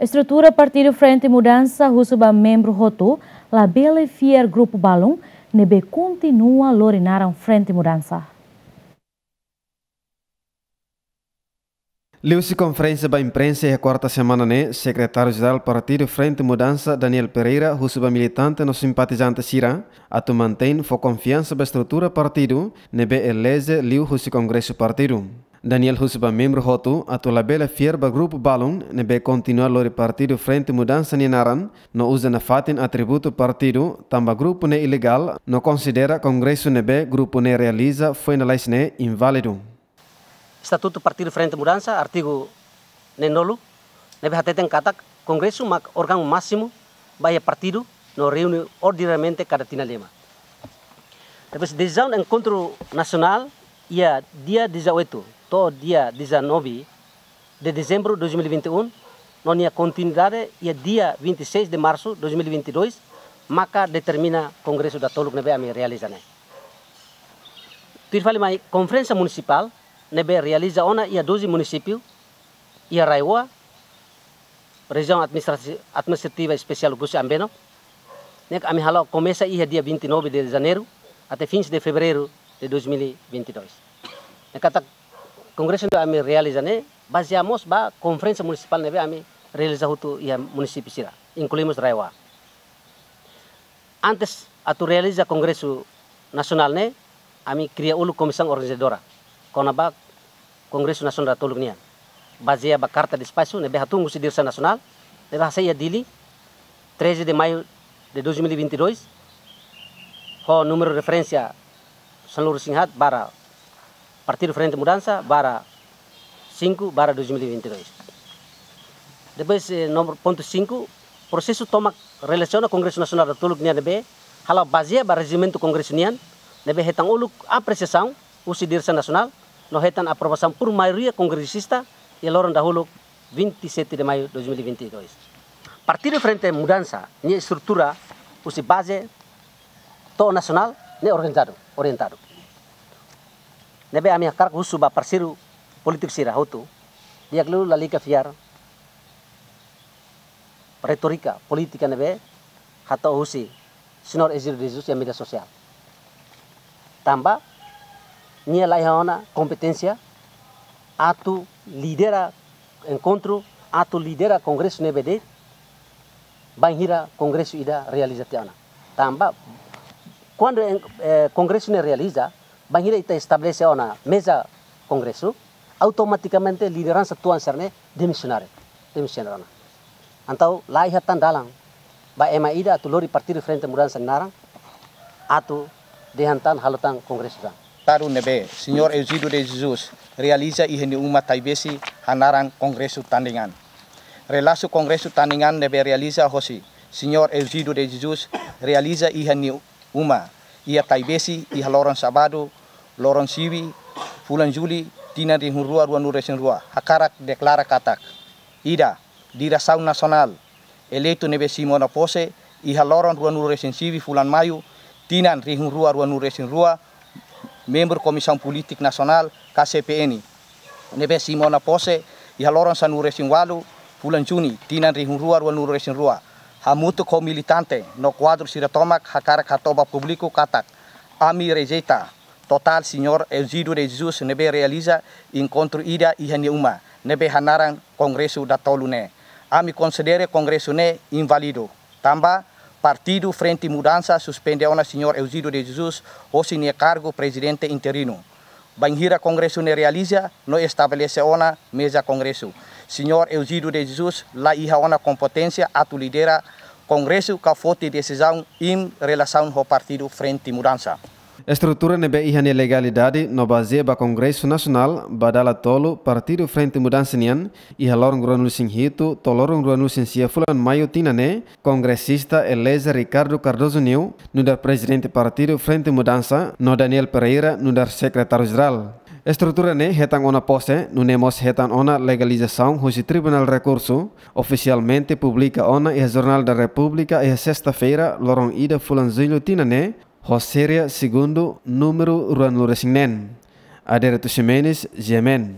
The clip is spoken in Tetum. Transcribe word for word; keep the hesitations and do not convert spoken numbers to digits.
Estrutura Partidu Frente Mudansa husu ba membru hotu labele fiar grupu balun ne'ebé kontinua lori naran Frente Mudansa. Liuhusi konferénsia ba imprensa iha kuarta semana ne'e, Sekretáriu Jerál Partidu Frente Mudansa, Daniel Pereira, husu ba militante no simpatizante sira atu mantein fó konfiansa ba estrutura partidu ne'ebé eleje liuhusi kongresu partidu. Daniel husu ba membru hotu atu labele fiar ba grupu balun ne'ebé kontinua lori Partidu Frente Mudansa nia naran no uza nafatin atributu partidu, tanba grupu ne'e ilegál, no konsidera kongresu ne'ebé grupu ne'e realiza foin lalais ne'e inválidu. Estatutu Partidu Frente Mudansa, artigu neenulu, ne'ebé hateten katak kongresu mak órgaun másimu ba iha partidu no reúne ordinariamente kada tinan lima. Depois, desizaun enkontru nasionál iha dia dezoito to'o dia dezanove de dezembro de dois mil e vinte e um, no nia kontinuidade iha dia vinte e seis de março de dois mil e vinte e dois, maka determina kongresu datoluk ne'ebé ami realiza ne'e. Tuir fali mai konferénsia munisipál ne'ebé realiza ona iha doze munisípiu, iha RAEOA, Rejiaun Administrasi-, Administrativa Espesiál Oekusi Ambeno, ne'e ami halo komesa iha dia vinte e nove de janeiro até fins de fevereiro de dois mil e vinte e dois. Ne'e katak kongresu ne'ebé ami realiza ne'e bazeia mós ba konferénsia munisipál ne'ebé ami realiza hotu iha munisípiu sira, inklui mós RAEOA. Antes atu realiza kongresu nasionál ne'e, ami kria uluk komisaun organizadora kona-ba kongresu nasionál datoluk nian. Bazeia ba karta despaxu ne'ebé hatún husi diresaun nasionál ne'ebé hasai iha Dili, treze de maio de dois mil e vinte e dois, ho númeru referénsia sanulu-resin-haat barra Partidu Frente Mudansa barra cinco barra dois mil e vinte e dois. Depois, eh, númeru pontu cinco, prosesu tomak relasiona kongresu nasionál datoluk nian ne'ebé hala'o bazeia ba rejimentu kongresu nian, ne'ebé hetan uluk apresiasaun husi diresaun nasionál, no hetan aprovasaun por maioria kongresista iha loron dahuluk vinte e sete de maio de dois mil e vinte e dois. Partidu Frente Mudansa nia estrutura husi baze to'o nasionál ne'e organizadu, orientadu. Ne'ebé ami hakarak husu ba parseiru polítiku sira hotu, di'ak liu lalika fiar retórika polítika ne'ebé hato'o husi Señór Eugídio de Jesus iha média sosiál. Tanba nia la iha ona kompeténsia atu lidera enkontru, atu lidera kongresu ne'ebé de'it, bainhira kongresu ida realiza tiha ona. Tanba kuandu en-, eh, kongresu ne'e realiza, bainhira ita estabelese ona meza kongresu, automatikamente lideransa tuan sira-ne'e demisiona, demisiona ona. Entaun la iha tan dalan ba ema ida atu lori Partidu Frente Mudansa nia naran atu dehan tan, halo tan kongresu tan. Tadu ne'ebé Señór Eugídio de Jesus realiza iha nia uma Taibesi hanaran kongresu tandingan. Relasu kongresu tandingan ne'ebé realiza hosi Señór Eugídio de Jesus realiza iha nia uma iha Taibesi iha loron sábadu, loron sivi, fulan Jullu, tinan rihun rua ruanulu-resin-rua, hakarak deklara katak: ida, diresaun nasionál eleitu ne'ebé simu ona pose iha loron ruanulu-resin-sivi fulan Maiu, tinan rihun rua ruanulu-resin-rua, membru Komisaun Polítika Nasionál, K C P N, ne'ebé simu ona pose iha loron sanulu-resin-ualu fulan Junu, tinan rihun rua ruanulu-resin-rua, hamutuk ho militante no kuadru sira tomak, hakarak hato'o ba públiku katak: ami rejeita totál Señór Eugídio de Jesus ne'ebé realiza enkontru ida iha nia uma, ne'ebé hanaran kongresu datolu ne'e. Ami konsidera kongresu ne'e inválidu, tanba Partidu Frente Mudansa suspende ona Señór Eugídio de Jesus hosi nia kargu prezidente interinu. Bainhira kongresu ne'e realiza no estabelese ona meza kongresu, Señór Eugídio de Jesus la iha ona kompeténsia atu lidera kongresu ka foti desizaun iha relasaun ho Partidu Frente Mudansa. Estrutura ne'ebé iha nia legalidade no bazeia ba kongresu nasionál ba dala tolu Partidu Frente Mudansa nian, iha loron ruanulu-resin-hitu to'o loron ruanulu-resin-sia fulan Maiu tinan ne'e, kongresista eleje Ricardo Cardoso Neue nu'udar prezidente Partidu Frente Mudansa no Daniel Pereira nu'udar sekretáriu jerál. Estrutura ne'e hetan ona pose, nune'e mós hetan ona legalizasaun husi Tribunál Rekursu, ofisialmente publika ona iha Jornál da Repúblika iha sesta-feira, loron ida fulan Jullu tinan ne'e, ho série segundu, númeru ruanulu-resin-neen. Adérito Ximenes, G M N.